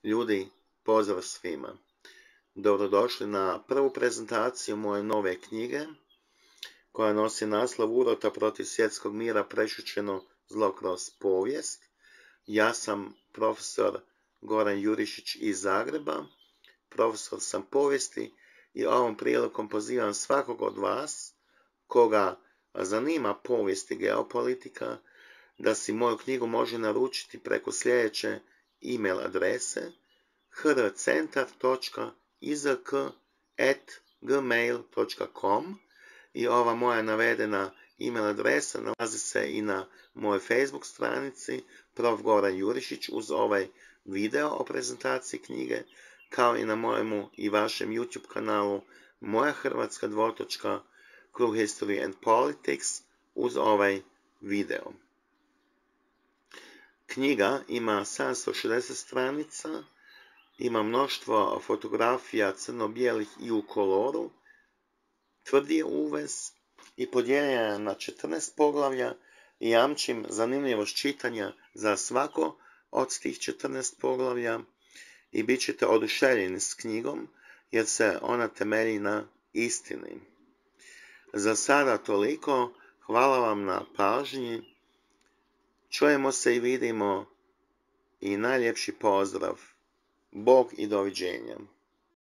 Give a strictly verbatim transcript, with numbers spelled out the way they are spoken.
Ljudi, pozdrav svima. Dobrodošli na prvu prezentaciju moje nove knjige, koja nosi naslov Urota protiv svjetskog mira prešućeno zlo kroz povijest. Ja sam profesor Goran Jurišić iz Zagreba, profesor sam povijesti i ovom prilikom pozivam svakog od vas, koga zanima povijest i geopolitika, da si moju knjigu može naručiti preko sljedeće e-mail adrese h r centar točka i z k at gmail točka com i ova moja navedena e-mail adresa nalazi se i na mojoj Facebook stranici prof. Goran Jurišić uz ovaj video o prezentaciji knjige, kao i na mojemu i vašem YouTube kanalu Moja Hrvatska dvotočka True History and Politics uz ovaj video. Knjiga ima sedamsto šezdeset stranica, ima mnoštvo fotografija crno-bijelih i u koloru, tvrdi je uvez i podijeljena je na četrnaest poglavlja i jamčim zanimljivost čitanja za svako od tih četrnaest poglavlja i bit ćete oduševljeni s knjigom jer se ona temelji na istini. Za sada toliko, hvala vam na pažnji, čujemo se i vidimo i najljepši pozdrav. Bog i doviđenja.